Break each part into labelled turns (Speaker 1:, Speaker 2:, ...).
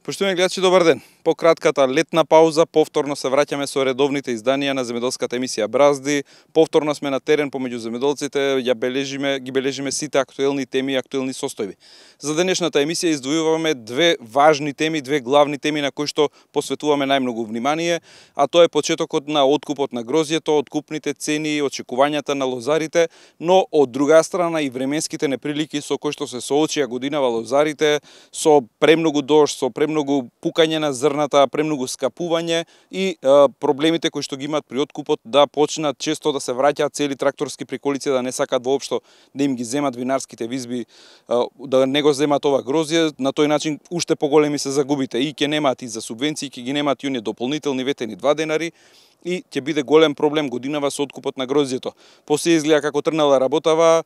Speaker 1: Поштовани гледачи, добар ден. По кратката летна пауза повторно се враќаме со редовните изданија на земјоделската емисија Бразди. Повторно сме на терен помеѓу земјоделците, ги бележиме сите актуелни теми и актуелни состојби. За денешната емисија издвојуваме две важни теми, две главни теми на кои што посветуваме најмногу внимание, а тоа е почетокот на откупот на грозјето, откупните цени, очекувањата на лозарите, но од друга страна и временските неприлики со кои што се соочија годинава лозарите, со премногу дожд, со премногу пукање на зрната, премногу скапување и проблемите кои што ги имаат при откупот да почнат често да се враќаат цели тракторски приколици, да не сакат воопшто да им ги земат винарските визби, да не го земат ова грозје, на тој начин уште поголеми се загубите и ќе немаат и за субвенции, ќе ги немаат и оние дополнителни ветени 2 денари и ќе биде голем проблем годинава со откупот на грозјето. После изгледа како трнала работава,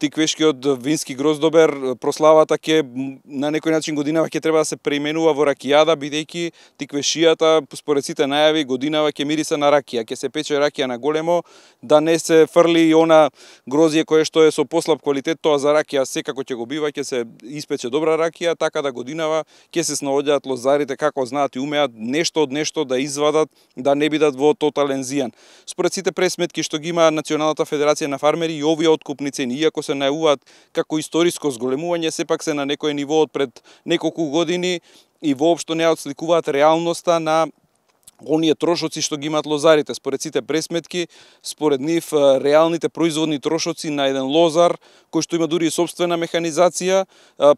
Speaker 1: тиквешкиот вински гроздобер, прославата ќе на некој начин годинава ќе треба да се преименува во ракијада, бидејќи тиквешијата според сите најави годинава ќе мириса на ракија, ќе се пече ракија на големо, да не се фрли и она грозје кое што е со послаб квалитет, тоа за ракија секако ќе го бива, ќе се испече добра ракија, така да годинава ќе се снаоѓаат лозарите како знаат и умеат нешто од нешто да извадат, да не бидат во тотален зијан. Според сите пресметки што ги има Националната федерација на фармери и овие откупни цени, иако се најавуваат како историско зголемување, сепак се на некој ниво од пред неколку години и воопшто не отсликуваат реалноста на оние трошоци што ги имаат лозарите. Според сите пресметки, според нив реалните производни трошоци на еден лозар кој што има дури и собствена механизација,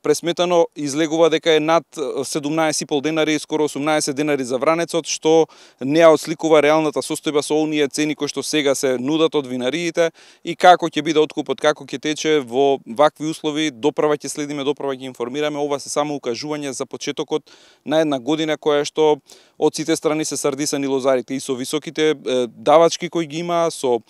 Speaker 1: пресметано излегува дека е над 17,5 денари, скоро 18 денари за вранецот, што не отсликува реалната состојба со оние цени кои што сега се нудат од винариите и како ќе биде откупот, како ќе тече во вакви услови. Допрва ќе следиме, допрва ќе информираме. Ова се само укажување за почетокот на една година која што од сите страни се сардисани лозарите и со високите давачки кои ги има, со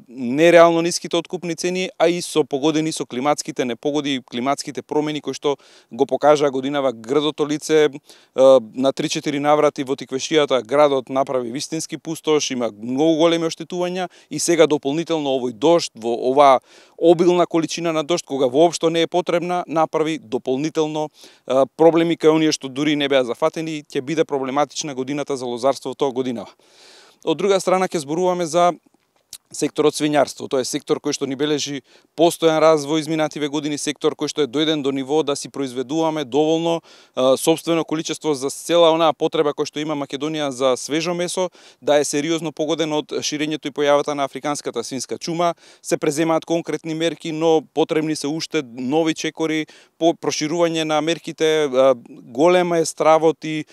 Speaker 1: нереално ниските откупни цени, а и со погодени со климатските непогоди и климатските промени кои што го покажаа годинава градото лице. На 3-4 наврати во тиквешијата градот направи вистински пустош, има многу големи оштетувања и сега дополнително овој дожд, во оваа обилна количина на дожд, кога воопшто не е потребна, направи дополнително проблеми кај оние што дури не беа зафатени и ќе биде проблематична годината за лозарството годинава. Од друга страна ќе зборуваме за секторот свињарство. Тоа е сектор кој што ни бележи постојан развој изминативе години, сектор кој што е дојден до ниво да си произведуваме доволно сопствено количество за цела онаа потреба која што има Македонија за свежо месо, да е сериозно погоден од ширењето и појавата на африканската свинска чума. Се преземаат конкретни мерки, но потребни се уште нови чекори, по проширување на мерките. Голема е стравот и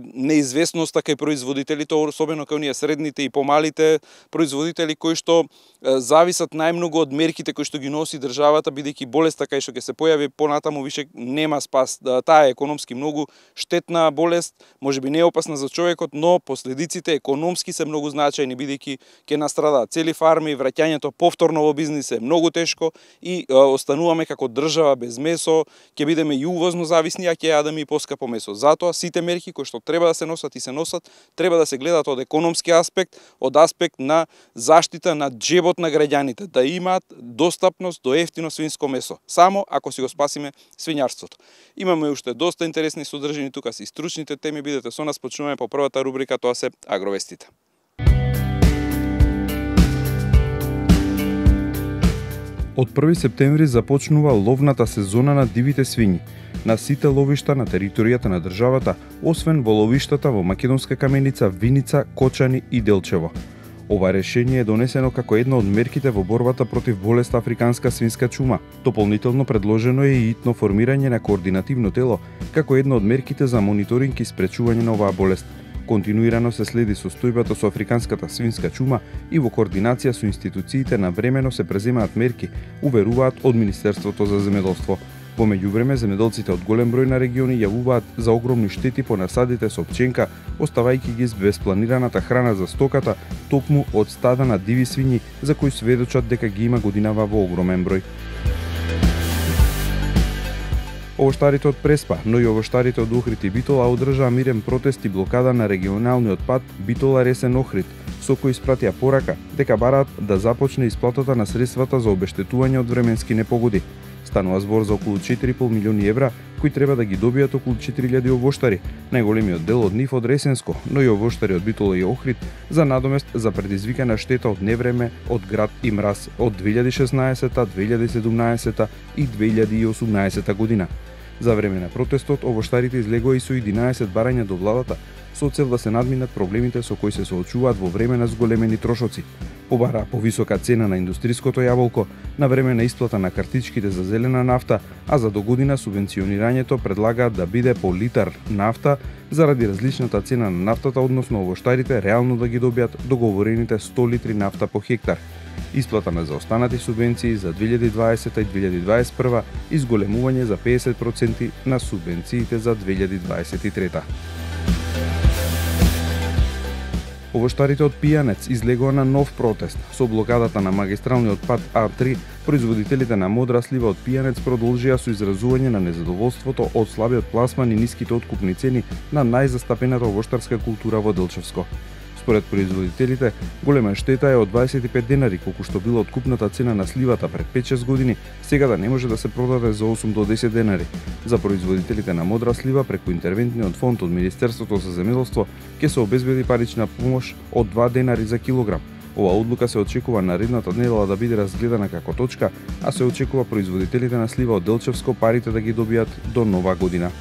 Speaker 1: неизвестноста кај производителите, особено кај оние средните и помалите производители кои што зависат најмногу од мерките кои што ги носи државата, бидејќи болеста кај што ќе се појави понатаму више нема спас. Таа е економски многу штетна болест, можеби не е опасна за човекот, но последиците економски се многу значајни, бидејќи ќе настрадаат цели фарми, враќањето повторно во бизнис е многу тешко и остануваме како држава без месо, ќе бидеме и увозно зависни, а ќе јадеме и поскапо месо. Затоа сите мерки кои што треба да се носат и се носат, треба да се гледат од економски аспект, од аспект на заштита на џебот на граѓаните, да имаат достапност до ефтино свинско месо, само ако си го спасиме свињарството. Имаме уште доста интересни содржини тука си стручните теми, бидете со нас, почнуваме по првата рубрика, тоа се агровестите.
Speaker 2: Од 1 септември започнува ловната сезона на дивите свињи на сите ловишта на територијата на државата, освен во ловиштата во Македонска Каменица, Виница, Кочани и Делчево. Ова решение е донесено како една од мерките во борбата против болест африканска свинска чума. Дополнително предложено е и итно формирање на координативно тело како една од мерките за мониторинг и спречување на оваа болест. Континуирано се следи состојбата со африканската свинска чума и во координација со институциите навремено се преземаат мерки, уверуваат од Министерството за земјоделство. Во меѓувреме, земјоделците од голем број на региони јавуваат за огромни штети по насадите со пченка, оставајќи ги без планираната храна за стоката, токму од стада на диви свињи, за кои сведочат дека ги има годинава во огромен број. Овоштарите од Преспа, но и овоштарите од Охрид и Битола одржаа мирен протест и блокада на регионалниот пат Битола Ресен Охрид, со кој испратија порака дека бараат да започне исплатата на средствата за обештетување од временски непогоди. Станува збор за околу 4,5 милиони евра, кои треба да ги добијат околу 4000 овоштари, најголемиот дел од нив од Ресенско, но и овоштари од Битола и Охрид, за надомест за предизвикана штета од невреме од град и мраз од 2016, 2017 и 2018 година. За време на протестот, овоштарите излегоа и со 11 барања до владата, со цел да се надминат проблемите со кои се соочуваат во време на зголемени трошоци. Побара повисока цена на индустриското јаболко, на време на исплата на картичките за зелена нафта, а за догодина субвенционирањето предлагаат да биде по литар нафта заради различната цена на нафтата, односно овоштарите реално да ги добијат договорените 100 литри нафта по хектар. Исплата на заостанати субвенции за 2020 и 2021 и зголемување за 50% на субвенциите за 2023. Овоштарите од Пијанец излегоа на нов протест. Со блокадата на магистралниот пат А3, производителите на модра слива од Пијанец продолжија со изразување на незадоволството од слабиот пласман и ниските откупни цени на најзастапената овоштарска култура во Делчевско. Според производителите, голема штета е од 25 денари, колку што била откупната цена на сливата пред 5-6 години, сега да не може да се продаде за 8 до 10 денари. За производителите на модра слива, преку интервентниот фонд од Министерството за земјоделство, ќе се обезбеди парична помош од 2 денари за килограм. Ова одлука се очекува наредната недела да биде разгледана како точка, а се очекува производителите на слива од Делчевско парите да ги добијат до нова година.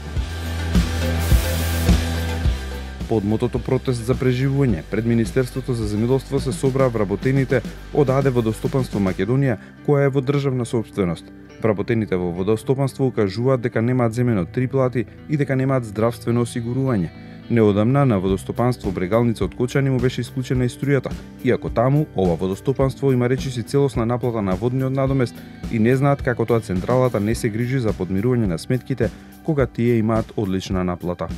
Speaker 2: Под мотото протест за преживување, пред Министерството за земјоделство се собраа вработените од АД Водостопанство Македонија, која е во државна собственост. Вработените во водостопанство укажуваат дека немаат земено 3 плати и дека немаат здравствено осигурување. Неодамна на водостопанство Брегалница од Кочани му беше исклучена и струјата, иако таму ова водостопанство има речиси целосна наплата на водниот надомест и не знаат како тоа централата не се грижи за подмирување на сметките кога тие имаат одлична наплата.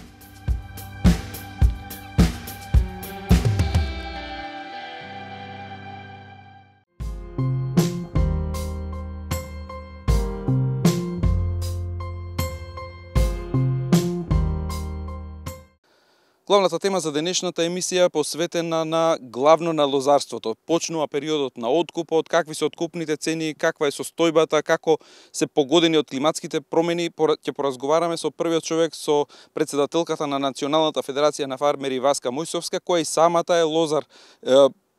Speaker 1: Главната тема за денешната емисија е посветена на главно на лозарството. Почнува периодот на откупот, какви се откупните цени, каква е состојбата, како се погодени од климатските промени. Ќе поразговараме со првиот човек, со претседателката на Националната федерација на фармери Васка Мојсовска, која и самата е лозар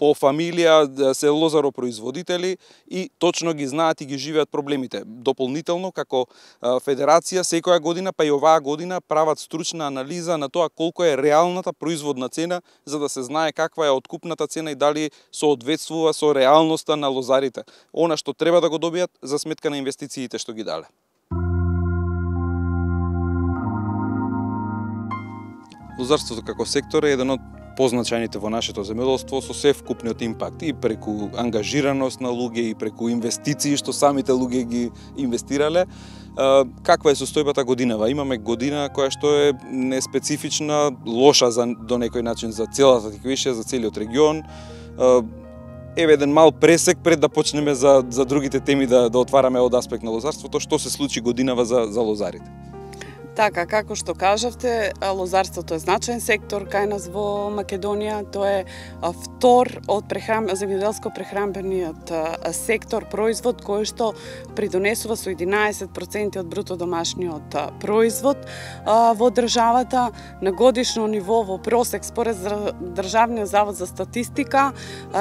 Speaker 1: по фамилија, се лозаропроизводители и точно ги знаат и ги живеат проблемите. Дополнително, како федерација, секоја година, па и оваа година, прават стручна анализа на тоа колку е реалната производна цена, за да се знае каква е откупната цена и дали соодветствува со реалноста на лозарите. Она што треба да го добијат за сметка на инвестициите што ги дале. Лозарството како сектор е еден од позначајните во нашето земјоделство со севкупниот импакт и преку ангажираност на луѓе и преку инвестиции што самите луѓе ги инвестирале. Каква е состојбата годинава? Имаме година која што е неспецифична, лоша до некој начин за целата Тиквишија, за целиот регион. Еве еден мал пресек пред да почнеме за другите теми да отвараме од аспект на лозарството, што се случи годинава за лозарите.
Speaker 3: Така, како што кажавте, лозарството е значаен сектор кај нас во Македонија. Тоа е втор од земјоделско-прехранбениот сектор, производ кој што придонесува со 11% од бруто домашниот производ во државата. На годишно ниво во просек според Државниот завод за статистика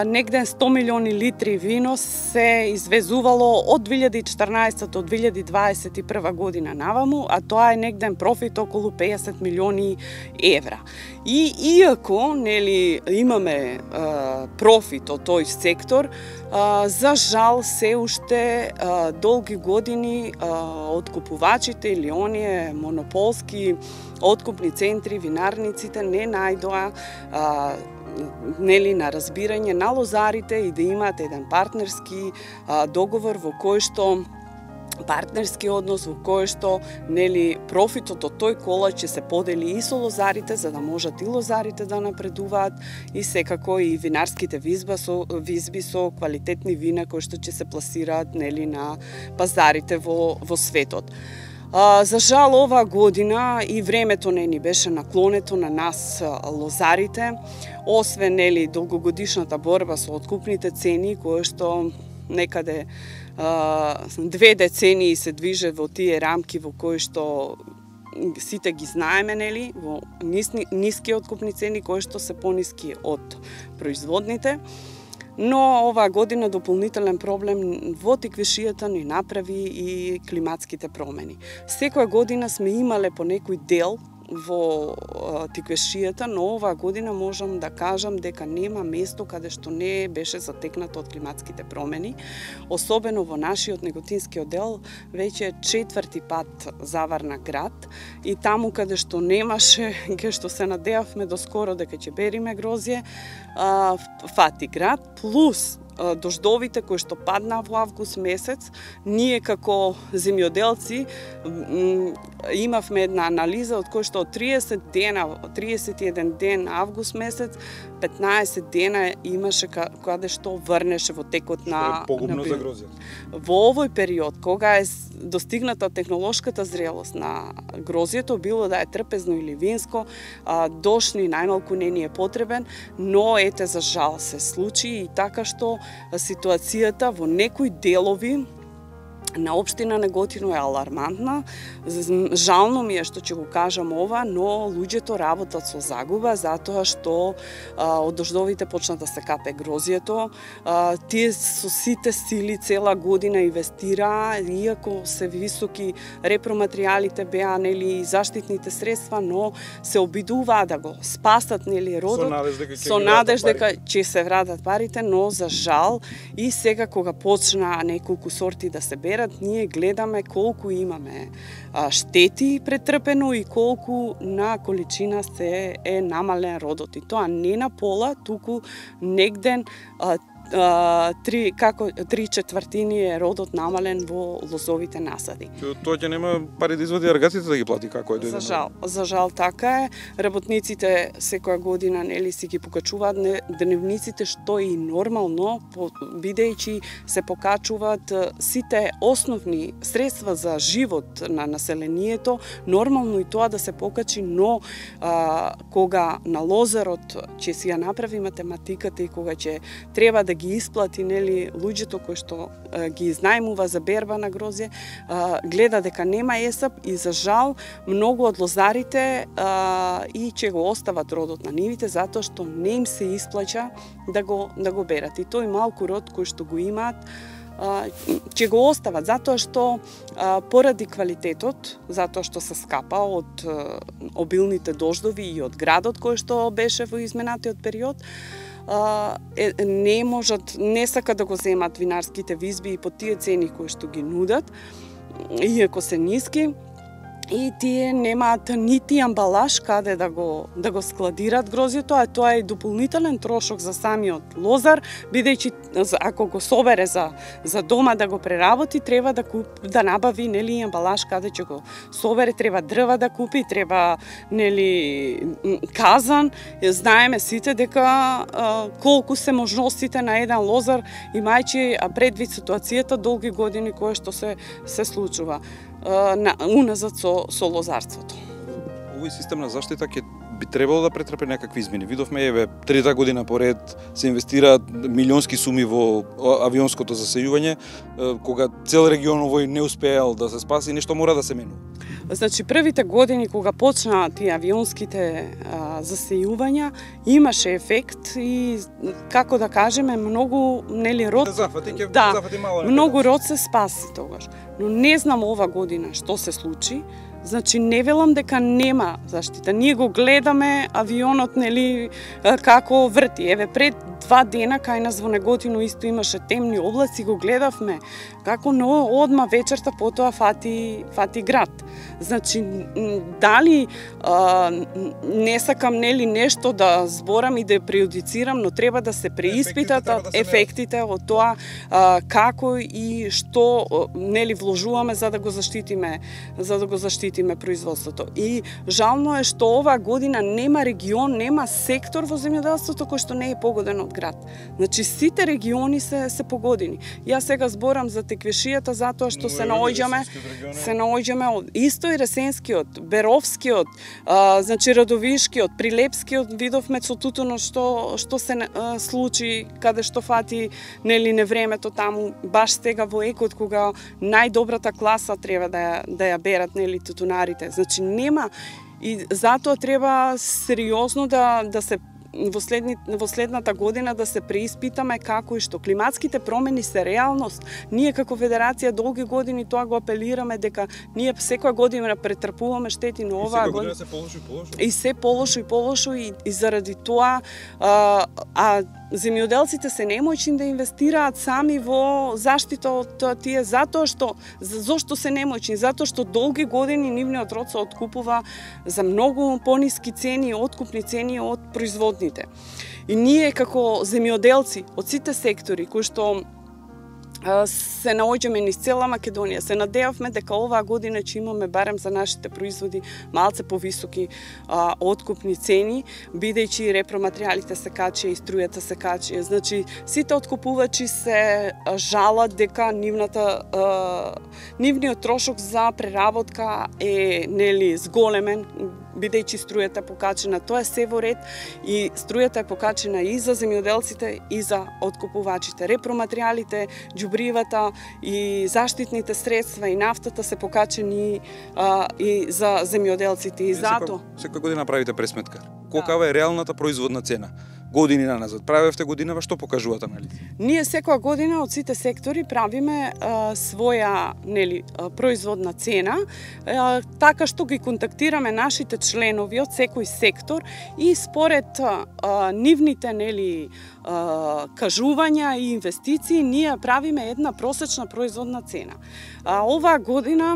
Speaker 3: негде 100 милиони литри вино се извезувало од 2014 до 2021 година наваму, а тоа е негде профит околу 50 милиони евра. И иако имаме профит од тој сектор, за жал се уште долги години откупувачите или оние монополски откупни центри, винарниците не најдоа на разбирање на лозарите и да имаат еден партнерски договор во кој што партнерски однос во кој што профитот од тој колач ќе се подели и со лозарите, за да можат и лозарите да напредуваат и секако и винарските визби со квалитетни вина кои што ќе се пласираат на пазарите во светот. За жал оваа година и времето не ни беше наклонето на нас лозарите, освен долгогодишната борба со откупните цени кои што некаде 2 децении се движе во тие рамки во кои што сите ги знаеме, нели, во ниски откупни цени кои што се пониски од производните. Но оваа година дополнителен проблем во тиквишијата ни направи и климатските промени. Секоја година сме имале по некој дел во тиквешијата, но оваа година можам да кажам дека нема место каде што не беше затекнато од климатските промени. Особено во нашиот неготинскиот дел веќе 4-ти пат заварна град и таму каде што немаше, каде што се надевавме доскоро дека ќе бериме грозје, фати град, плюс дождовите кои што паднаа во август месец, ние како земјоделци имавме една анализа од кој што од 31 ден август месец, 15 дена имаше каде што врнеше во текот на
Speaker 1: погубно за грозјето.
Speaker 3: Во овој период, кога е достигната технолошката зрелост на грозјето, било да е трпезно или винско, дожд ни најмалку не ни е потребен, но ете за жал се случи и така што ситуацијата во некои делови на општина Неготино е алармантна. Жално ми е што ќе го кажам ова, но луѓето работат со загуба затоа што од дождовите почна да се капе грозјето. Тие со сите сили цела година инвестираа, иако се високи репроматеријалите беа, нели, заштитните средства, но се обидуваа да го спасат, нели, родот со надеж дека ќе се вратат парите, но за жал и сега кога почнаа неколку сорти да се берат, ние гледаме колку имаме штети претрпено и колку на количина се е намален родот. И тоа не на пола, туку негден 3/4 е родот намален во лозовите насади.
Speaker 1: Тоа ќе нема пари да извади аргаците да ги плати, како е?
Speaker 3: За жал така е. Работниците секоја година, нели, си ги покачуваат дневниците, што е и нормално, бидејќи се покачуваат сите основни средства за живот на населението, нормално и тоа да се покачи, но кога на лозарот ќе си ја направи математиката и кога ќе треба да ги исплати, нели, луѓето кои што ги изнајмува за берба на грозје, гледа дека нема есап и за жал многу од лозарите и ќе го остават родот на нивите затоа што не им се исплаќа да го берат. И тој малку род кој што го имаат ќе го остават затоа што поради квалитетот, затоа што се скапа од обилните дождови и од градот кој што беше во изминатиот период, не можат, не сака да го земат винарските визби и по тие цени кои што ги нудат, иако се ниски, и тие немаат нити амбалаж каде да го складират грозјето, а тоа е дополнителен трошок за самиот лозар, бидејќи ако го собере за дома да го преработи, треба да набави, нели, амбалаж каде ќе го собере, треба дрва да купи, треба, нели, казан. Знаеме сите дека колку се можностите на еден лозар, имајќи предвид ситуацијата долги години кое што се случува уназад со лозарството.
Speaker 1: Овој систем на заштита ќе би требало да претрпе некакви измени. Видовме, еве, 3-та година поред се инвестираат милионски суми во авионското засејување, кога цел регион овој не успеал да се спаси, нешто мора да се менува.
Speaker 3: Значи, првите години кога почнаа тие авионските засејувања, имаше ефект и, како да кажеме, многу, нели, род... многу род се спаси тогаш. Но не знам ова година што се случи. Значи, не велам дека нема заштита. Ние го гледаме авионот, нели, како врти. Еве, пред 2 дена кај нас во Неготино исто имаше темни облаци, го гледавме како, но одма вечерта потоа фати град. Значи, дали не сакам, нели, нешто да зборам и да преюдицирам, но треба да се преиспитат ефектите од тоа како и што, нели, вложуваме за да го заштитиме заштитиме производството. И жално е што оваа година нема регион, нема сектор во земјоделството кој што не е погоден од град. Значи сите региони се погодени. Јас сега зборам за Теквешијата затоа што се наоѓаме исто и Ресенскиот, Беровскиот, значи Радовишкиот, Прилепскиот видовме со тутуно што се случи каде што фати нели невремето таму баш сега во екот кога најдобрата класа треба да ја берат нели тутунарите. Значи нема и затоа треба сериозно да се во следната година да се преиспитаме како и што климатските промени се реалност. Ние како федерација долги години тоа го апелираме дека ние секоја година претрпуваме штети, но оваа година
Speaker 1: се полошо и полошо.
Speaker 3: И се полошо и заради тоа земјоделците се немојчни да инвестираат сами во заштита од тие зошто се немојчни? Затоа што долги години нивниот род се откупува за многу пониски цени, откупни цени од производните. И ние како земјоделци од сите сектори кои што се наоѓаме низ цела Македонија, се надевавме дека оваа година ќе имаме барем за нашите производи малце повисоки откупни цени, бидејќи репроматеријалите се качија и струјата се качија. Значи сите откупувачи се жалат дека нивниот трошок за преработка е нели зголемен, бидејќи струјата е покачена. Тоа е се во ред и струјата е покачена и за земјоделците и за откупувачите. Репроматеријалите, џубривата и заштитните средства и нафтата се покачени и за земјоделците и затоа.
Speaker 1: Секоја година правите пресметка. Колкава е реалната производна цена? Години наназад. Правевте годинава, што покажуваат анализи?
Speaker 3: Ние секоја година од сите сектори правиме своја производна цена, така што ги контактираме нашите членови од секој сектор и според нивните кажувања и инвестиции ние правиме една просечна производна цена. Оваа година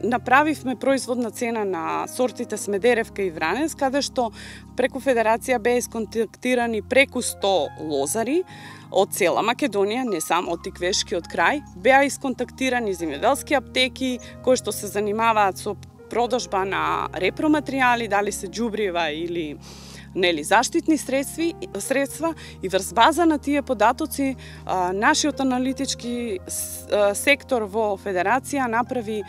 Speaker 3: направивме производна цена на сортите Смедеревка и Вранец, каде што преку Федерација беа исконтактирани преку 100 лозари од цела Македонија, не само од Тиквешкиот крај, беа исконтактирани земјоделски аптеки кои што се занимаваат со продажба на репроматеријали, дали се џубрива или заштитни средства и врз база на тие податоци нашиот аналитички сектор во Федерација направи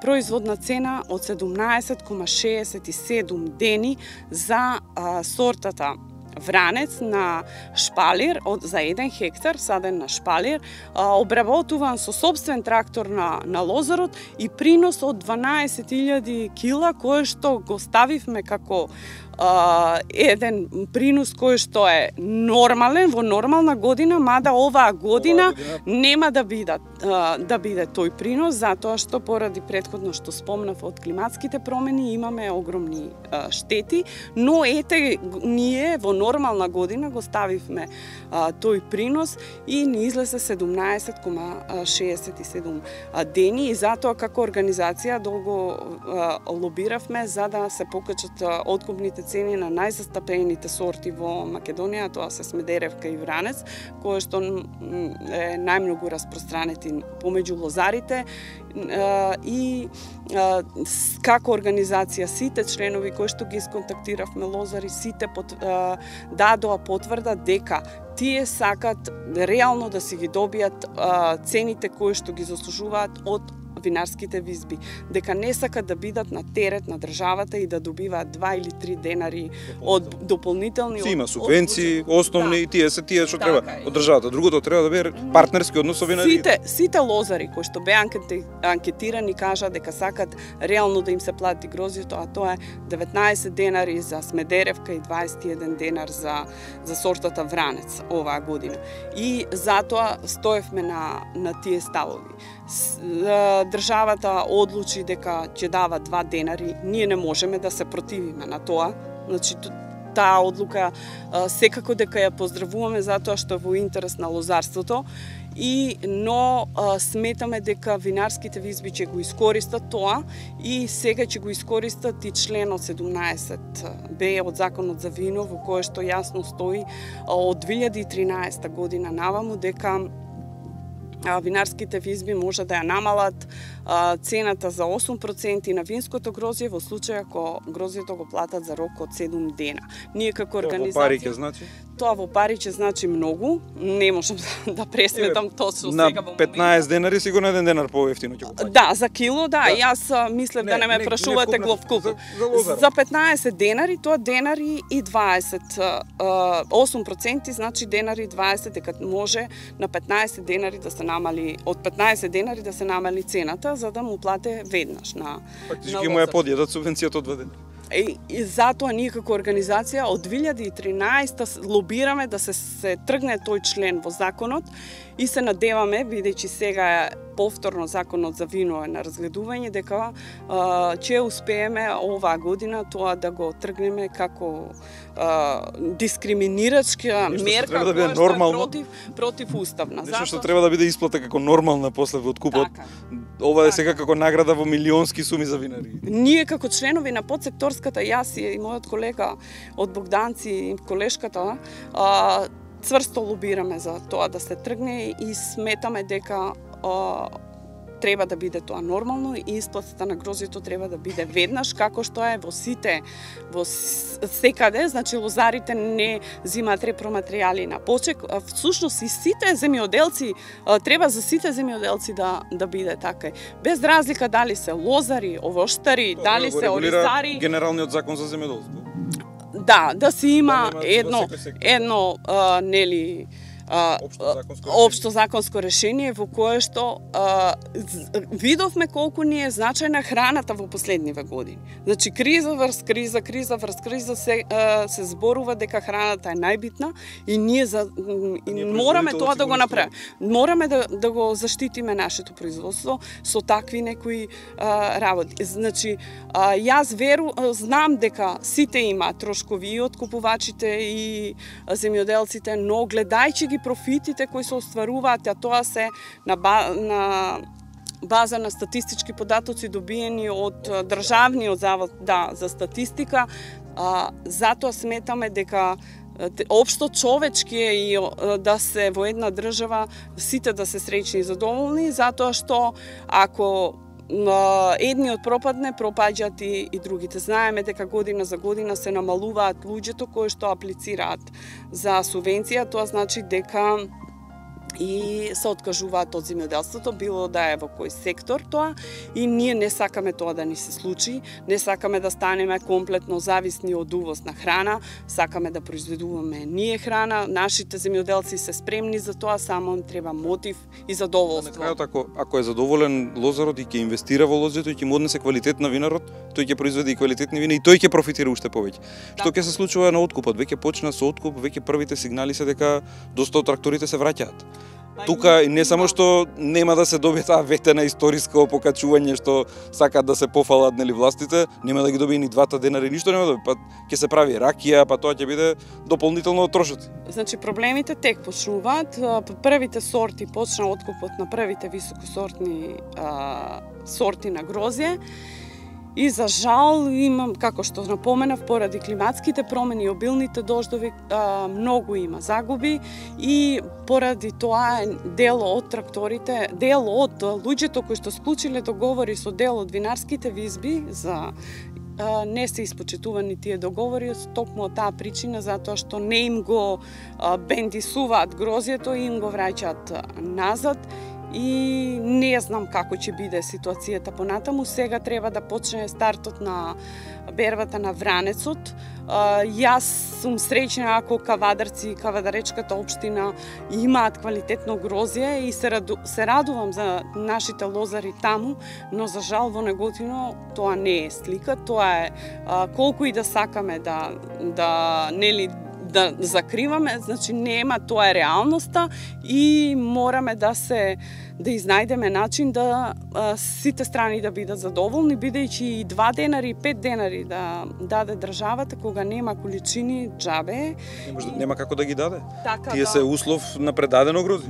Speaker 3: производна цена од 17,67 дени за сортата Вранец на шпалир за 1 хектар, саден на шпалир, обработуван со собствен трактор на лозарот и принос од 12.000 кила, кој што го ставивме како еден принос кој што е нормален во нормална година, мада оваа година нема да биде тој принос, затоа што поради претходно што спомнав од климатските промени имаме огромни штети, но ете ние во нормална година го ставивме тој принос и ни излезе 17,67 дени и затоа како организација долго лобиравме за да се покачат откупните цени на најзастапените сорти во Македонија, тоа се Смедеревка и Вранец, кои што е најмногу распространети помеѓу лозарите и како организација сите членови кои што ги исконтактиравме лозари, сите дадоа потврда дека тие сакат реално да си ги добијат цените кои што ги заслужуваат од винарските визби, дека не сакат да бидат на терет на државата и да добиваат 2 или 3 денари од дополнителни
Speaker 1: има субвенции, основни и тие што треба од државата. Другото треба да биде партнерски однос со винарите.
Speaker 3: Сите лозари кои што беа анкетирани кажа дека сакат реално да им се плати грозјето, а тоа е 19 денари за Смедеревка и 21 денар за сортата Вранец оваа година. И затоа стоевме на тие ставови. Државата одлучи дека ќе дава 2 денари, ние не можеме да се противиме на тоа. Значи, таа одлука секако дека ја поздравуваме затоа што е во интерес на лозарството, но сметаме дека винарските визби ќе го искористат тоа и сега ќе го искористат и членот 17б од Законот за вино во кое што јасно стои од 2013 година наваму дека винарските визби може да ја намалат цената за 8% на винското грозје во случај ако грозјето го платат за рок од 7 дена. Ние како организација...
Speaker 1: Тоа во пари ќе значи?
Speaker 3: Тоа во пари ќе значи многу. Не можам да пресметам точно сега во моментот.
Speaker 1: На 15 денари сигурно 1 денар поевтино ќе го плати.
Speaker 3: Да, за кило, да. Јас мислев да не ме прашувате главкуп. За 15 денари, тоа денари и 20. 8% значи денари 20, дека може на 15 денари да се намали, од 15 денари да се намали цената, за да му плате веднаш на
Speaker 1: фактички му ја подјадат субвенцијата од 2 денари.
Speaker 3: И затоа ние како организација од 2013 лобираме да се тргне тој член во законот и се надеваме, бидејќи сега е повторно законот за вино е на разгледување, дека ќе успееме оваа година тоа да го тргнеме како дискриминирачка мерка
Speaker 1: која што
Speaker 3: е против уставна.
Speaker 1: Нешто што треба да биде исплата како нормална после во откупот.
Speaker 3: Така.
Speaker 1: Ова е сега како награда во милионски суми за винари.
Speaker 3: Ние како членови на подсекторската, јас и мојот колега од Богданци и колешката, цврсто лобираме за тоа да се тргне и сметаме дека треба да биде тоа нормално и исплатата на грозјето треба да биде веднаш, како што е во сите, во секаде, значи лозарите не зимаат репроматеријали на почек, всушност и сите земјоделци, треба за сите земјоделци да биде така. Без разлика дали се лозари, овоштари, дали се оризари.
Speaker 1: Генералниот закон за земјоделство.
Speaker 3: Да си има едно нели општо законско решение во кое што видовме колку ни е значајна храната во последниве години. Значи криза врз криза се зборува дека храната е најбитна и ние мораме тоа да го направиме. Мораме да го заштитиме нашето производство со такви некои работи. Значи јас знам дека сите имаат трошкови и откупувачите и земјоделците, но гледајќи ги профитите кои се остваруваат, а тоа се на база на статистички податоци добиени од Државниот завод за статистика, затоа сметаме дека општо човечки е и да се во една држава сите да се среќни и задоволни, затоа што ако едниот пропадне, пропаѓаат и другите. Знаеме дека година за година се намалуваат луѓето кои што аплицираат за субвенција, тоа значи дека и се откажуваат од земјоделството, било да е во кој сектор тоа, и ние не сакаме тоа да ни се случи, не сакаме да станеме комплетно зависни од увоз на храна, сакаме да произведуваме ние храна, нашите земјоделци се спремни за тоа, само им треба мотив и задоволство.
Speaker 1: На крајот, ако е задоволен лозарот и ќе инвестира во лозето и ќе му однесе квалитет на винарот, тој ќе произведе и квалитетни вина и тој ќе профитира уште повеќе. Што ќе се случува на откупот? Веќе почна со откуп, веќе првите сигнали се дека доста од тракторите се враќаат. Тука не само што нема да се добие таа ветена историско покачување што сакаат да се пофалат нели властите, нема да ги добие ни 2 денари, ништо нема да добие, па ќе се прави ракија, па тоа ќе биде дополнително трошоци.
Speaker 3: Значи проблемите тек почнуваат, првите сорти почна откупот на првите високосортни сорти на грозје. И за жал имам, како што напоменав, поради климатските промени и обилните дождови, многу има загуби и поради тоа дел од тракторите, дел од луѓето кои што склучиле договори со дел од винарските визби за не се испочитувани тие договори токму од таа причина, затоа што не им го бендисуваат грозјето и им го враќаат назад. И не знам како ќе биде ситуацијата понатаму. Сега треба да почне стартот на бербата на вранецот. Јас сум среќна ако кавадарци и кавадаречката општина имаат квалитетно грозје и се радувам за нашите лозари таму, но за жал во Неготино тоа не е слика, тоа е колку и да сакаме да закриваме, значи нема, тоа е реалноста и мораме да изнајдеме начин да сите страни да бидат задоволни, бидејќи и 2 денари и 5 денари да даде државата кога нема количини џабе.
Speaker 1: Нема како да ги даде.
Speaker 3: Така,
Speaker 1: Тие се услов на предадено грозје.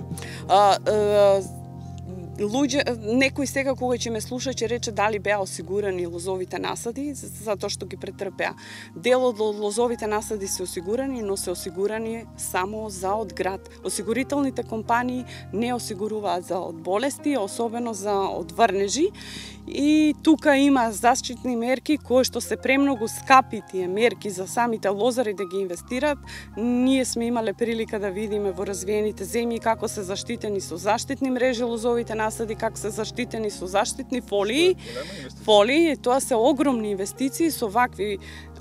Speaker 3: некој сега кога ќе ме слуша ќе рече дали беа осигурани лозовите насади, затоа што ги претрпеа. Дел од лозовите насади се осигурани, но се осигурани само за од град. Осигурителните компании не осигуруваат за од болести, особено за од врнежи. И тука има заштитни мерки кои што се премногу скапи тие мерки за самите лозари да ги инвестират. Ние сме имале прилика да видиме во развиените земји како се заштитени со заштитни мрежи лозовите насади, како се заштитени со заштитни фолии. Тоа се огромни инвестиции со вакви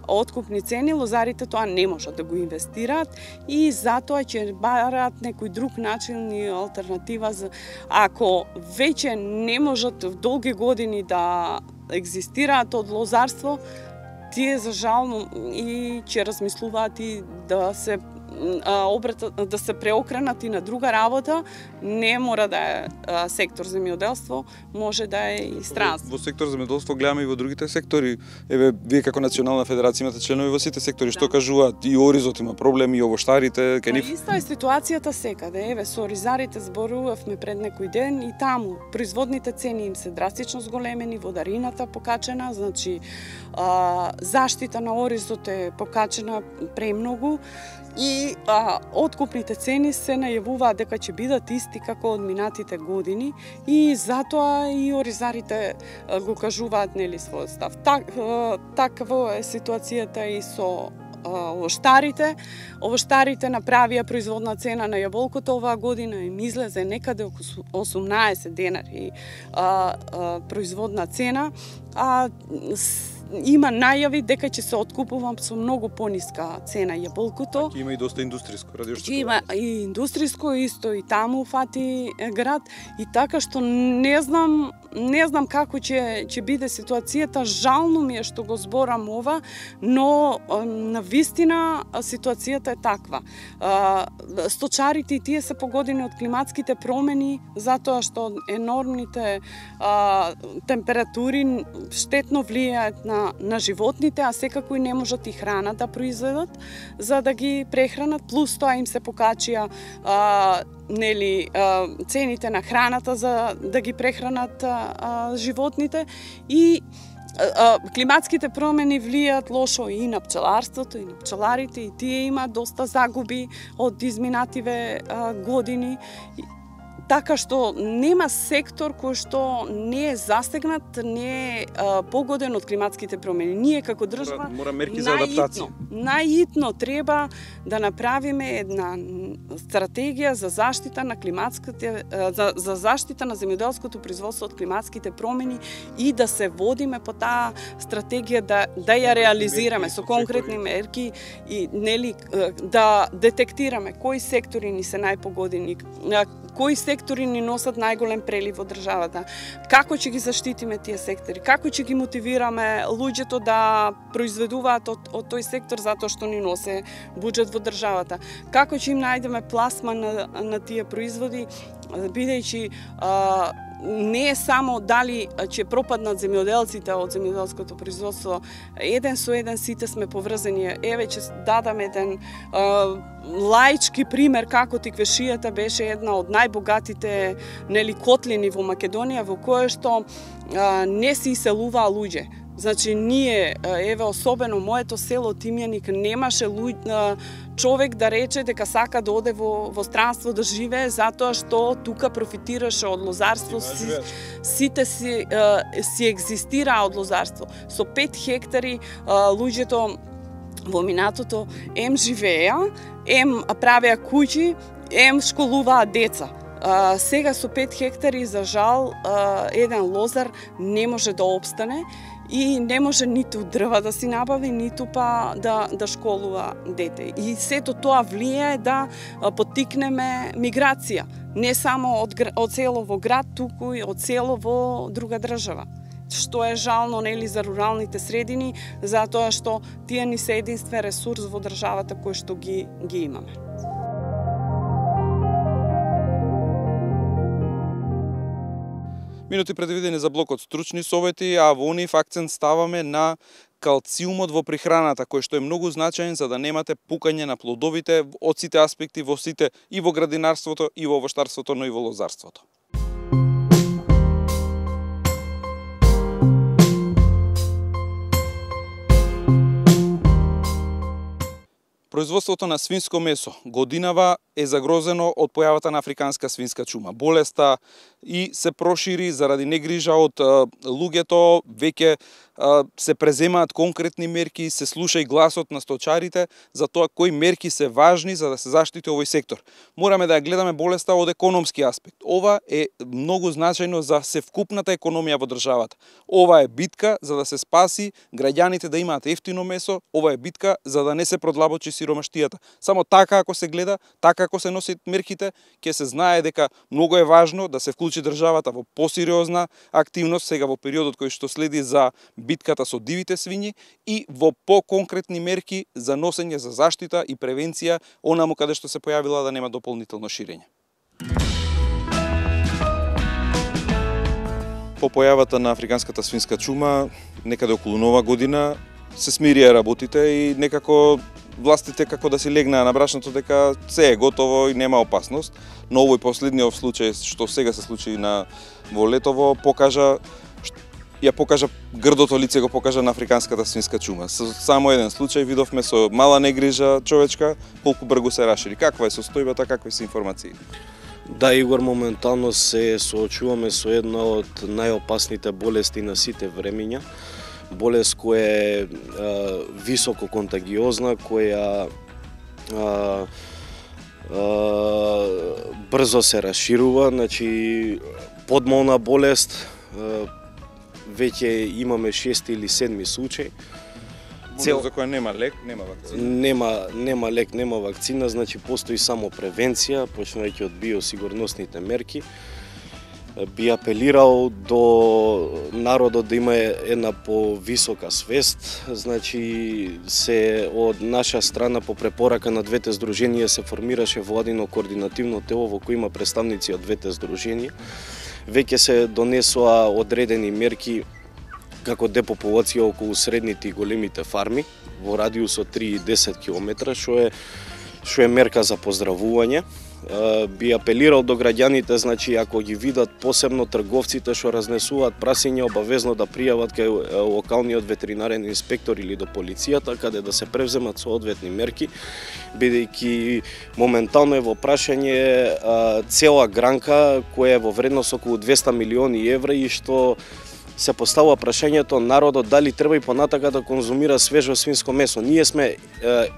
Speaker 3: откупни цени, лозарите тоа не можат да го инвестираат и затоа ќе бараат некој друг начин и алтернатива за ако веќе не можат в долги години да екзистираат од лозарство, тие за жал и ќе размислуваат и да се да се преокренат и на друга работа, не мора да е сектор земјоделство, може да е и странство.
Speaker 1: Во сектор земјоделство гледаме и во другите сектори. Еве, вие како Национална федерација имате членови во сите сектори, што кажуваат и Оризот има проблеми, и овоштарите, кај нив.
Speaker 3: Иста е ситуацијата секаде. Еве, со оризарите зборувавме пред некој ден и таму производните цени им се драстично зголемени, водарината покачена, значи заштита на оризот е покачена премногу и откупните цени се најавуваат дека ќе бидат исти како од минатите години и затоа и оризарите го кажуваат нели својот став. Таква е ситуацијата и со овоштарите. Овоштарите направија производна цена на јаболкото оваа година им излезе некаде околу 18 денари производна цена, има најави дека ќе се откупува со многу пониска цена јаболкото.
Speaker 1: Има и доста индустријско, ради што
Speaker 3: има и индустријско исто и таму фати град и така што не знам како ќе биде ситуацијата. Жално ми е што го зборам ова, но навистина ситуацијата е таква. Сточарите и тие се погодени од климатските промени затоа што енормните температури штетно влијаат на животните, а секако и не можат и храна да произведат за да ги прехранат, плюс тоа им се покачија цените на храната за да ги прехранат животните и климатските промени влијаат лошо и на пчеларството, и на пчеларите, и тие имаат доста загуби од изминативе години. Така што нема сектор кој што не е застегнат, не е погоден од климатските промени. Ние како држава
Speaker 1: мора мерки за адаптација.
Speaker 3: Најитно треба да направиме една стратегија за заштита на климатските за заштита на земјоделското производство од климатските промени и да се водиме по таа стратегија да ја реализираме со конкретни мерки и нели да детектираме кои сектори ни се најпогодени, кои сектори ни носат најголем прелив во државата, како ќе ги заштитиме тие сектори, како ќе ги мотивираме луѓето да произведуваат од тој сектор затоа што ни носе буџет во државата, како ќе им најдеме пласма на тие производи, бидејќи не е само дали ќе пропаднат земјоделците од земјоделското производство, еден со еден сите сме поврзани. Еве ќе дадам еден лаички пример како Тиквешијата беше една од најбогатите котлини во Македонија во кое што не се иселуваа луѓе. Значи ние, еве особено моето село Тимјаник, немаше човек да рече дека сака да оде во странство да живее затоа што тука профитираше од лозарство, сите си екзистираа од лозарство. Со 5 хектари луѓето во минатото ем живееа, ем правеа куќи, ем школуваа деца. Сега со 5 хектари, за жал, еден лозар не може да опстане и не може ниту дрва да си набави, ниту па да школува дете. И сето тоа влијае да поттикнеме миграција, не само од село во град, туку и од село во друга држава. Што е жално за руралните средини, затоа што тие ни се единствен ресурс во државата кој што ги имаме.
Speaker 1: Минути предвидени за блокот стручни совети, а во нив акцент ставаме на калциумот во прехраната, кој што е многу значаен за да немате пукање на плодовите од сите аспекти, и во градинарството, и во овоштарството, но и во лозарството. Производството на свинско месо годинава е загрозено од појавата на африканска свинска чума. Болеста и се прошири заради негрижа од луѓето, веќе се преземаат конкретни мерки, се слуша и гласот на сточарите за тоа кои мерки се важни за да се заштити овој сектор. Мораме да ја гледаме болеста од економски аспект. Ова е многу значајно за севкупната економија во државата. Ова е битка за да се спаси граѓаните да имаат ефтино месо, ова е битка за да не се продлабочи сиромаштијата. Само така ако се гледа, така ако се носат мерките, ќе се знае дека многу е важно да се вклучи државата во посериозна активност сега во периодот кој што следи за битката со дивите свињи и во поконкретни мерки за носење за заштита и превенција онаму каде што се појавила да нема дополнително ширење. По појавата на африканската свинска чума, некаде околу нова година, се смирија работите и некако властите како да си легнаа на брашното дека се е готово и нема опасност. Но овој последниот случај што сега се случи во Летово покажа грдото лице го покажа на африканската свинска чума. Со само еден случај видовме со мала негрижа човечка колку брзо се рашири. Каква е состојбата, какви се информации?
Speaker 4: Да, Игор, моментално се соочуваме со една од најопасните болести на сите времиња. Болест која е високо контагиозна, која брзо се расширува, значи подмолна болест, веќе имаме 6 или 7 случај.
Speaker 1: За која нема лек, нема вакцина.
Speaker 4: Нема лек, нема вакцина, значи постои само превенција, почнувајќи од биосигурносните мерки. Би апелирал до народот да има една повисока свест, значи се од наша страна по препорака на двете здруженија се формираше владино координативно тело во кој има представници од двете здруженија. Веќе се донесоа одредени мерки како депопулација околу средните и големите фарми во радиус од 3 и 10 км, што е мерка за поздравување. Би апелирал до граѓаните, значи ако ги видат посебно трговците што разнесуваат прасиња, обавезно да пријават кај локалниот ветеринарен инспектор или до полицијата, каде да се превземат соодветни мерки, бидејќи моментално е во прашање цела гранка која е во вредност околу 200 милиони евра и што се поставува прашањето народот дали треба и понатака да конзумира свежо свинско месо. Ние сме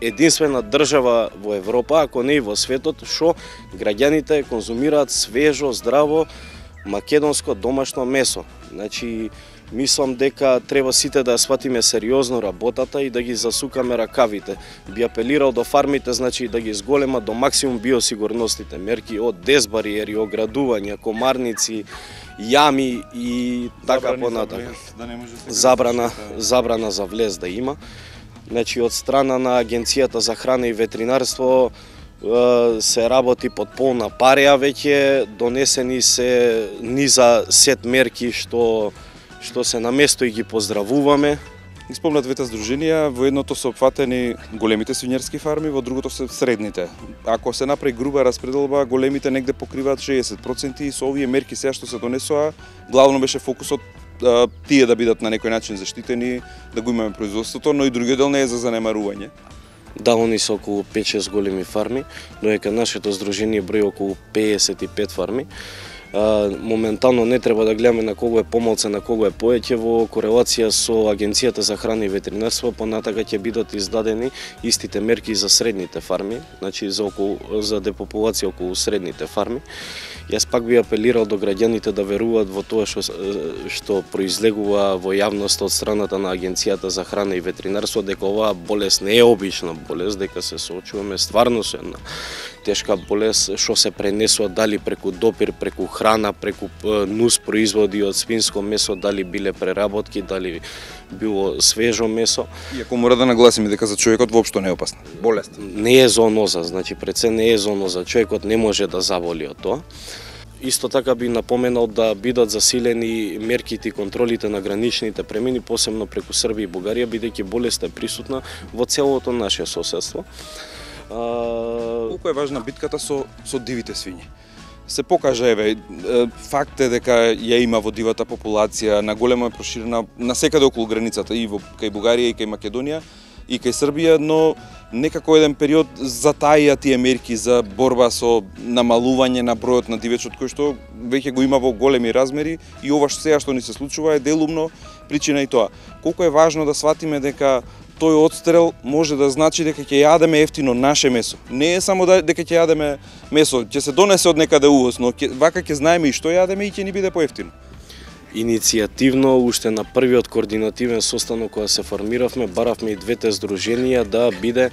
Speaker 4: единствена држава во Европа, ако не и во светот, што граѓаните конзумираат свежо, здраво, македонско домашно месо. Значи, мислам дека треба сите да сватиме сериозно работата и да ги засукаме ракавите. Би апелирал до фармите, значи да ги зголемат до максимум биосигурностите мерки од дезбариери, оградувања, комарници, јами и така понатака. Забрана за влез да има. Значи од страна на Агенцијата за храна и ветеринарство се работи под полна пареа веќе, донесени се низа сет мерки што се на место и ги поздравуваме.
Speaker 1: Исполнат двете здруженија, во едното се опфатени големите свинјерски фарми, во другото се средните. Ако се направи груба распределба, големите негде покриваат 60% и со овие мерки сега што се донесоа, главно беше фокусот тие да бидат на некој начин заштитени, да го имаме производството, но и другиот дел не е за занемарување.
Speaker 4: Да, они се околу 5-6 големи фарми, додека нашето здружение брои околу 55 фарми. Моментално не треба да гледаме на кого е помалце, на кого е поеќе. Во корелација со Агенцијата за храна и ветеринарство понатака ќе бидат издадени истите мерки за средните фарми, значи за депопулација околу средните фарми. Јас пак би апелирал до граѓаните да веруваат во тоа што произлегува во јавност од страната на Агенцијата за храна и ветеринарство, дека оваа болест не е обична болест, дека се соочуваме стварно со една тешка болест што се пренесува дали преку допир, преку храна, преку нус производи од свинско месо, дали биле преработки, дали било свежо месо.
Speaker 1: Иако мора да нагласиме дека за човекот воопшто не е опасна болест.
Speaker 4: Не е зооноза, значи пред се не е зооноза, човекот не може да заболи од тоа. Исто така би напоменал да бидат засилени мерките и контролите на граничните премини, посебно преку Србија и Бугарија, бидејќи болеста е присутна во целото наше соседство.
Speaker 1: Колку е важна битката со дивите свињи? Се покажа, факт е дека ја има во дивата популација, на голема е проширена насекаде околу границата, и кај Бугарија, и кај Македонија, и кај Србија, но некако еден период затаија тие мерки за борба со намалување на бројот на дивечот кој што веќе го има во големи размери и ова сега што ни се случува е делумно причина и тоа. Колку е важно да сватиме дека тој одстрел може да значи дека ќе јадеме ефтино наше месо. Не е само дека ќе јадеме месо, ќе се донесе од некаде увоз, но вака ќе знаеме и што јадеме и ќе ни биде поевтино.
Speaker 4: Иницијативно, уште на првиот координативен состанок кога се формиравме, баравме и двете здруженија да биде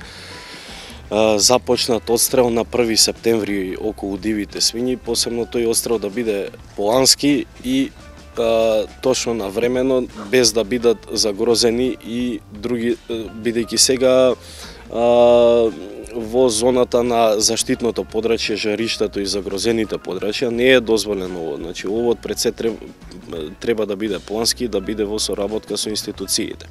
Speaker 4: започнат одстрел на 1 септември околу дивите свињи, посебно тој одстрел да биде плански и точно навремено, без да бидат загрозени и други, бидејќи сега во зоната на заштитното подрачје, жариштето и загрозените подрачја не е дозволено ово. Значи, овој пред се треба да биде плански, да биде во соработка со институциите.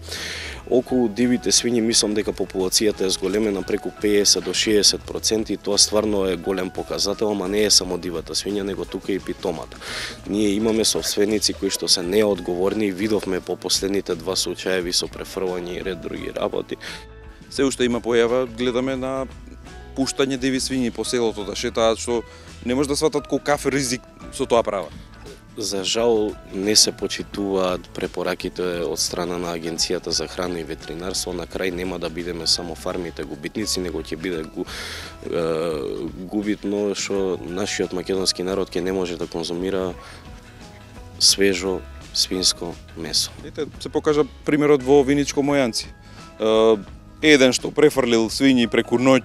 Speaker 4: Околу дивите свињи мислам дека популацијата е зголемена преку 50 до 60% и тоа стварно е голем показател, ама не е само дивата свиња, него тука и питомата. Ние имаме собственици кои што се неодговорни и видовме по последните 2 случаеви со префрлање и ред други работи.
Speaker 1: Се уште има појава, гледаме на пуштање диви свињи по селото да шетаат, што не може да сватат колкав ризик со тоа прават.
Speaker 4: За жал не се почитуваат препораките од страна на Агенцијата за храна и ветеринарство. На крај нема да бидеме само фармите губитници, него ќе биде губитно што нашиот македонски народ ќе не може да конзумира свежо свинско месо.
Speaker 1: Ете, се покажа примерот во Виничко Мојанци. Еден што префрлил свињи преку ноќ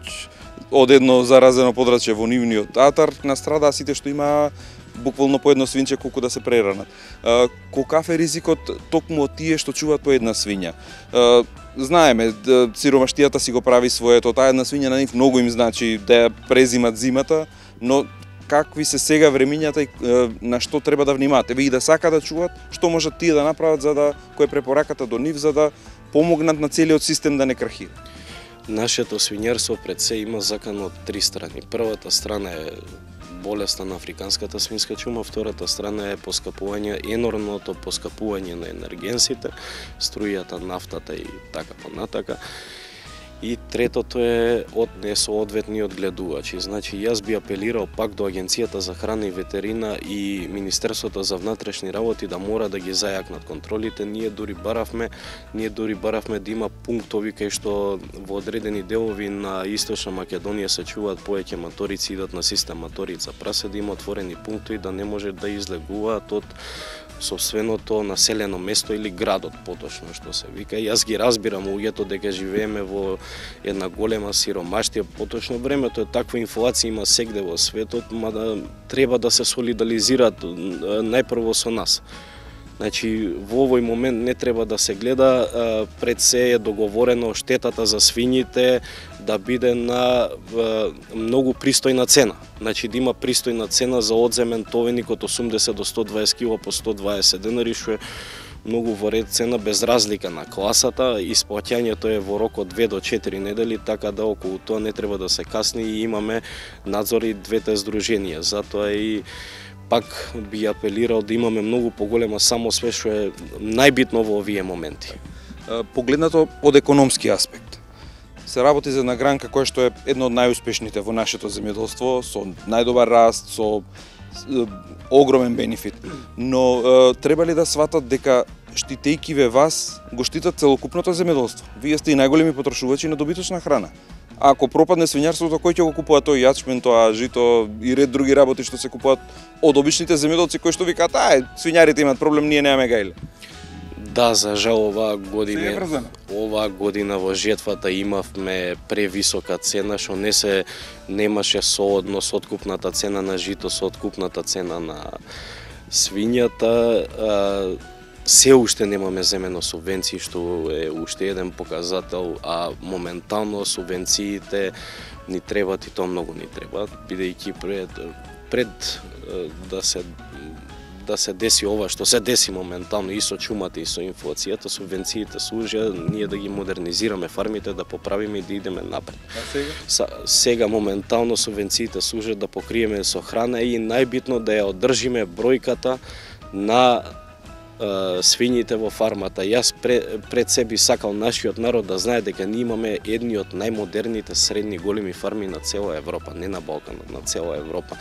Speaker 1: од едно заразено подрачје во нивниот атар, настрадаа сите што има буквално по едно свинче колку да се преранат. Колкав е ризикот токму од тие што чуваат по една свиња? Знаеме, сиромаштијата си го прави своето, таа една свиња на нив многу им значи да ја презимат зимата, но какви се сега времињата и на што треба да внимаат? Еве и да сака да чуваат, што можат тие да направат за да кој е препораката до нив за да помогнат на целиот систем да не крахира?
Speaker 4: Нашето свињарство пред се има закан од 3 страни. Првата страна е болеста на африканската свинска чума, втората страна е енормното поскапување на енергенсите, струјата, нафтата и така понатака. И третото е одветниот гледувачи. Значи, јас би апелирал пак до Агенцијата за храна и ветерина и Министерството за внатрешни работи да мора да ги зајакнат контролите. Ние дури баравме да има пунктови кај што во одредени делови на Источна Македонија се чуваат повеќе маторици, идат на систем маторица прасе, да има отворени пунктови да не може да излегуваат од сопственото населено место или градот, поточно што се вика. Јас ги разбирам луѓето дека живееме во една голема сиромаштија, поточно времето е таква, инфлација има сегде во светот, мада треба да се солидаризираат најпрво со нас. Значи, во овој момент не треба да се гледа, пред се е договорено штетата за свињите да биде на многу пристојна цена. Значи, да има пристојна цена за одземен товеник од 80 до 120 кг по 120 денари, што е многу во ред цена без разлика на класата. Исплаќањето е во рок од 2 до 4 недели, така да околу тоа не треба да се касни и имаме надзор и двете здруженија. Затоа и пак би апелирал да имаме многу поголема самосвест, што е најбитно во овие моменти.
Speaker 1: Погледнато од економски аспект, се работи за една гранка која што е една од најуспешните во нашето земјоделство, со најдобар раст, со огромен бенефит. Но треба ли да сватат дека штитејќи ве вас, го штитат целокупното земјоделство? Вие сте и најголеми потрошувачи на добиточна храна. Ако пропадне свињарството, кој ќе го купува тој јачмен, тоа жито и ред други работи што се купуваат од обичните земјоделци кои што викаат, свињарите имаат проблем, ние немаме гајле?
Speaker 4: Да, за жал оваа година во жетвата имавме превисока цена, што немаше соодност откупната цена на жито со откупната цена на свињата. Се уште немаме земено субвенции, што е уште еден показател, а моментално субвенциите ни требат и тоа многу ни требат, бидејќи пред да се деси ова што се деси моментално и со чумата и со инфлацијата, субвенциите служат ние да ги модернизираме фармите, да поправиме и да идеме напред. Сега моментално субвенциите служат да покриеме со храна и најбитно да ја одржиме бројката на свињите во фармата. Јас пред себе сакал нашиот народ да знае дека ние имаме едни од најмодерните средни големи фарми на цела Европа, не на Балканот, на цела Европа.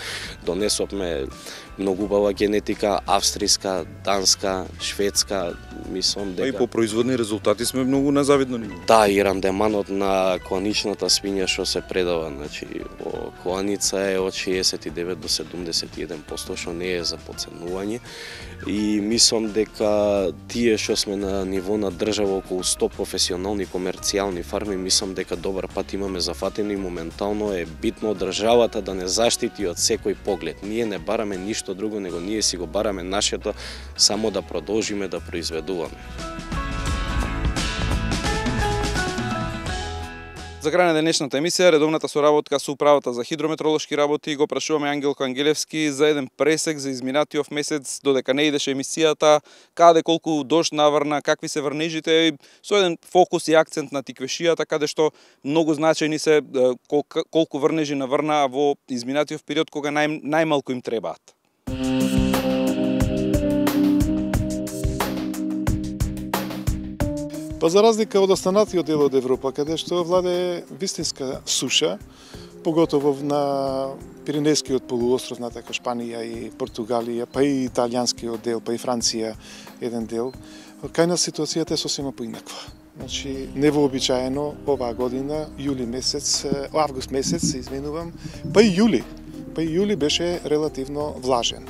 Speaker 4: Донесовме многу убава генетика, австријска, данска, шведска, мислам дека...
Speaker 1: И по производни резултати сме многу на завидно ниво.
Speaker 4: Да, и рандеманот на кланичната свиња што се предава, значи во кланица е од 69 до 71%, што не е за подценување. И мислам дека тие што сме на ниво на држава околу 100 професионални комерцијални фарми, мислам дека добар пат имаме зафатено и моментално е битно државата да не заштити од секој поглед. Ние не бараме ништо друго, него ние си го бараме нашето, само да продолжиме да произведуваме.
Speaker 1: За крај на денешната емисија, редовната соработка со Управата за хидрометролошки работи, го прашуваме Ангелко Ангелевски за еден пресек за изминатиот месец, додека не идеше емисијата, каде колку дожд наврна, какви се врнежите, со еден фокус и акцент на тиквешијата, каде што многу значајни се колку врнежи наврнаа во изминатиот период кога најмалку им требаат.
Speaker 5: Па за разлика од останатиот дел од Европа, каде што владее вистинска суша, поготово на Пиренејскиот полуостров, на така Шпанија и Португалија, па и италијанскиот дел, па и Франција еден дел, кај нас ситуацијата е сосема поинаква. Значи, невообичаено оваа година, август месец, се изменувам, па и јули беше релативно влажен.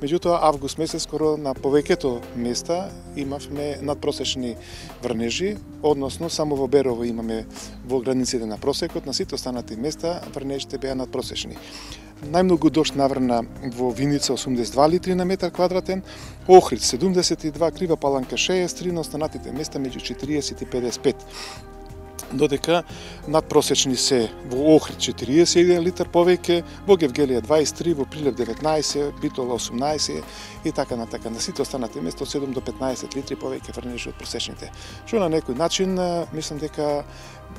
Speaker 5: Меѓутоа, август месец, скоро на повеќето места имавме надпросечни врнежи, односно само во Берово имаме во границите на просекот, на сите останати места врнежите беа надпросечни. Најмногу дожд наврна во Виница 82 литри на метар квадратен, Охрид 72, Крива Паланка 63, на останатите места меѓу 40 и 55. Додека надпросечни се во Охрид 41 литар повеќе, во Гевгелија 23, во Прилеп 19, Битола 18 и така на така. На сите останати места од 7 до 15 литри повеќе врнежи од просечните. Што на некој начин мислам дека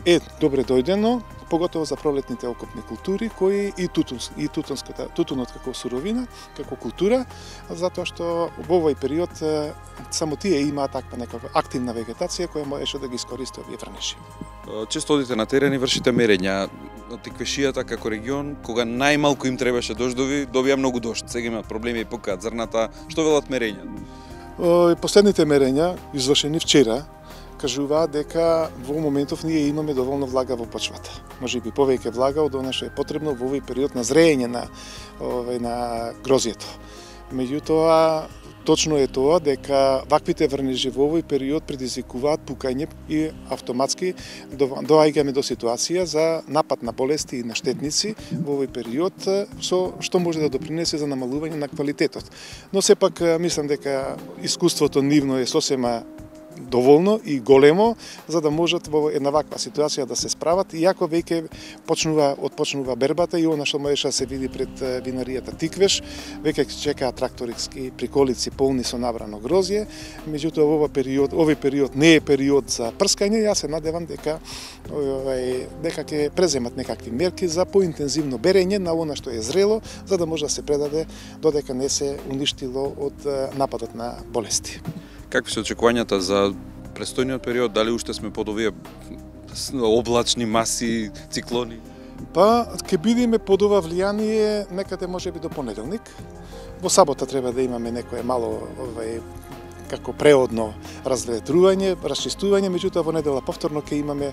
Speaker 5: е добре дојдено, поготово за пролетните окопни култури, кои и тутунот како суровина, како култура, затоа што во овој период само тие имаат таква некаква активна вегетација која можеше да ги искористи овие врнежи.
Speaker 1: Често одите на терен и вршите мерења. Тиквешијата како регион, кога најмалку им требаше дождови, добија многу дожд. Сега имаат проблеми и покаат зрната. Што велат мерења?
Speaker 5: Последните мерења, извршени вчера, кажуваат дека во моментов ние имаме доволно влага во почвата. Можеби повеќе влага од она што е потребно во овој период на зреење на грозјето. Меѓутоа, точно е тоа дека ваквите врнежи во овој период предизвикуваат пукање и автоматски доаѓаме до ситуација за напад на болести и на штетници во овој период, што може да допринесе за намалување на квалитетот. Но сепак мислам дека искуството нивно е сосема доволно и големо за да можат во една ваква ситуација да се справат, иако веќе почнува бербата и она што можеше да се види пред винаријата Тиквеш, веќе чекаат тракторски приколици полни со набрано грозје. Меѓутоа овој период не е период за прскање. Јас се надевам дека ќе преземат некакви мерки за поинтензивно берење на она што е зрело, за да може да се предаде додека не се уништило од нападот на болести.
Speaker 1: Какви се очекувањата за престојниот период? Дали уште сме под овие облачни маси, циклони?
Speaker 5: Па, ќе бидеме под ова влијание некаде можеби до понеделник. Во сабота треба да имаме некое мало како преодно разветрување, расчистување, меѓутоа во недела повторно ќе имаме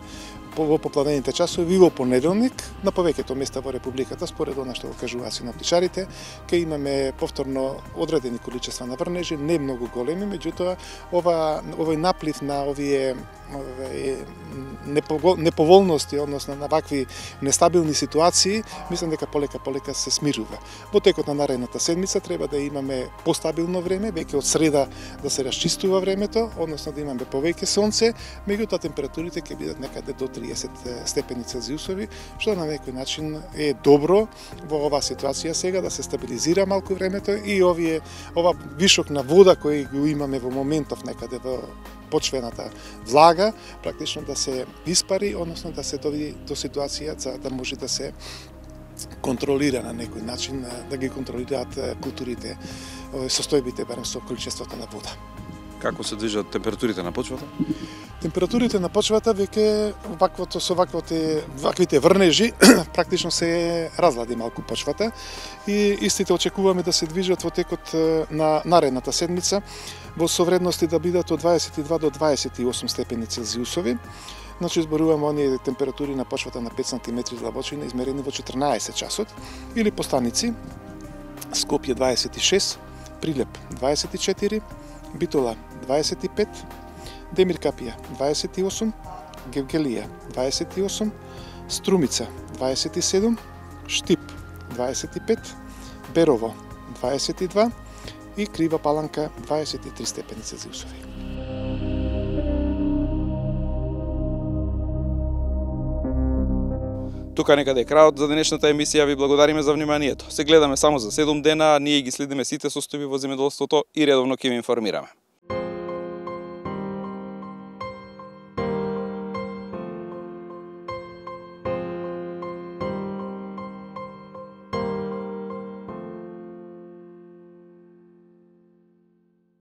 Speaker 5: во попладените часови и во понеделник на повеќето места во републиката, според она што го кажуваат синоптичарите, ќе имаме повторно одредени количества на врнежи, не многу големи, меѓутоа овој наплив на овие неповолности, односно на вакви нестабилни ситуации, мислам дека полека се смирува. Во текот на наредната седмица треба да имаме постабилно време, веќе од среда да се расчистува времето, односно да имаме повеќе сонце, меѓутоа температурите ќе бидат некаде до 30 степени Целзиусови, што на некој начин е добро во оваа ситуација сега да се стабилизира малку времето и ова вишок на вода кој го имаме во моментов некаде во почвената влага, практично да се испари, односно да се доведе до ситуација за да може да се контролира на некој начин, да ги контролираат културите, состојбите барем со количеството на вода.
Speaker 1: Како се движат температурите на почвата?
Speaker 5: Температурите на почвата веќе со ваквите врнежи практично се разлади малку почвата и истите очекуваме да се движат во текот на наредната седмица во совредности да бидат од 22 до 28 степени Целзиусови. Значи зборуваме оние температури на почвата на 5 см длабочина измерени во 14 часот или по станици Скопје 26, Прилеп 24, Битола 25, Демир Капија 28, Гевгелија 28, Струмица 27, Штип 25, Берово 22 и Крива Паланка 23 степени Целзиусови.
Speaker 1: Тука некаде е крајот за денешната емисија. Ви благодариме за вниманието. Се гледаме само за 7 дена, ние ги следиме сите состојби во земјоделството и редовно ќе ви информираме.